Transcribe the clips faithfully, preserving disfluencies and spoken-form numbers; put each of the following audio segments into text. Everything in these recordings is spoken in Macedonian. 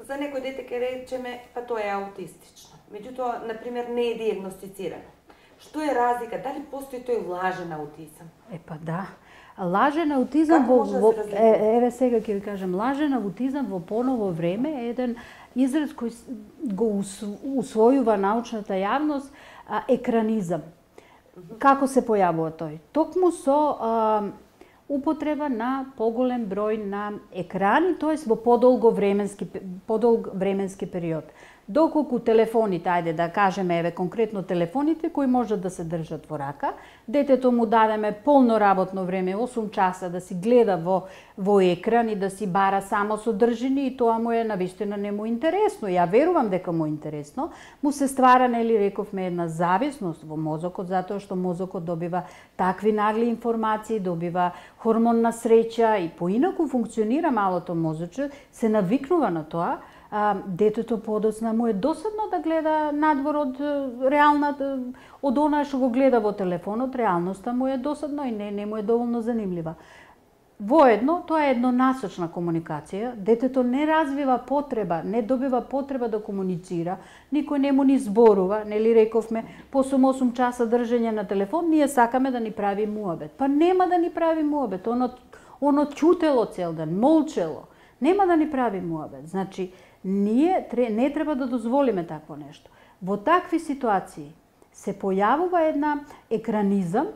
за некој дете ќе речеме, па тоа е аутистично. Меѓутоа, на пример, не е диагностицирано. Што е разлика? Дали постои тој лажен аутизам? Е, па да. Лажен аутизам во, да во е, еве сега ќе ви кажам, лажен аутизам во поново време е еден израз кој го усвојува научната јавност, а, екранизам. Како се појавува тој? Токму со а, употреба на поголем број на екрани, тоест во подолго временски подолг временски период. Доколку телефоните, ајде да кажеме, еве конкретно телефоните кои можат да се држат во рака, детето му дадеме полно работно време, осум часа да си гледа во во екран и да си бара само содржини, и тоа му е навистина не му интересно. Ја верувам дека му е интересно, му се ствара, нели рековме, една зависност во мозокот, затоа што мозокот добива такви нагли информации, добива хормон на среќа и поинаку функционира малото мозоче, се навикнува на тоа. А, детето подоцна му е досадно да гледа надвор од реалната, од она што го гледа во телефонот, реалноста му е досадно и не, не му е доволно занимлива. Воедно, тоа е еднонасочна комуникација, детето не развива потреба, не добива потреба да комуницира, никој не му ни зборува, нели рековме, по осум часа држење на телефон, ние сакаме да ни прави муабет. Па нема да ни прави муабет, оно, оно ќутело цел ден, молчело, нема да ни прави муабет. Значи, ние не треба да дозволиме такво нешто. Во такви ситуации се појавува една екранизам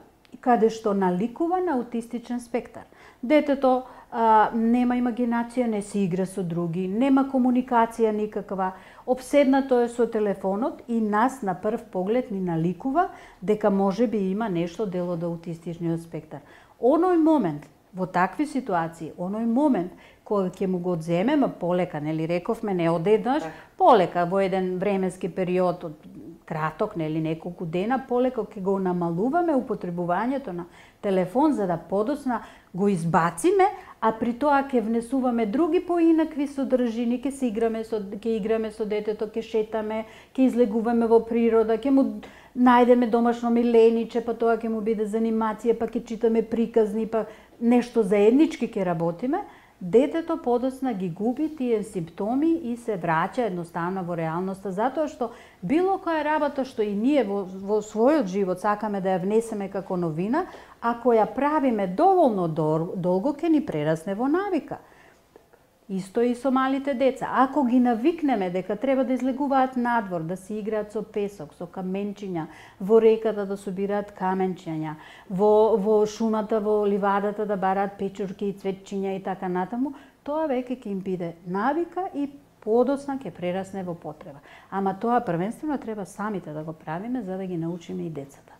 каде што наликува на аутистичен спектар. Детето а, нема имагинација, не се игра со други, нема комуникација никаква, обседнато е со телефонот и нас на прв поглед ни наликува дека може би има нешто дел од аутистичниот спектар. Оној момент, во такви ситуации, оној момент кој ќе му го одземеме полека, нели рековме, не одеднаш, полека во еден временски период од краток, нели неколку дена, полека ќе го намалуваме употребувањето на телефон за да подоцна го избациме, а при тоа ќе внесуваме други поинакви содржини, ќе се играме со ќе играме со детето, ќе шетаме, ќе излегуваме во природа, ќе му најдеме домашно милениче, па тоа ќе му биде занимација, па ќе читаме приказни, па нешто заеднички ќе работиме. Детето подоцна ги губи тие симптоми и се враќа едноставно во реалноста, затоа што било која работа што и ние во, во својот живот сакаме да ја внесеме како новина, ако ја правиме доволно долго, ќе ни прерасне во навика. Исто и со малите деца. Ако ги навикнеме дека треба да излегуваат надвор, да си играат со песок, со каменчиња, во реката да собираат каменчиња, во, во шумата, во ливадата да бараат печурки и цветчиња и така натаму, тоа веќе ќе им биде навика и подоцна ќе прерасне во потреба. Ама тоа првенствено треба самите да го правиме за да ги научиме и децата.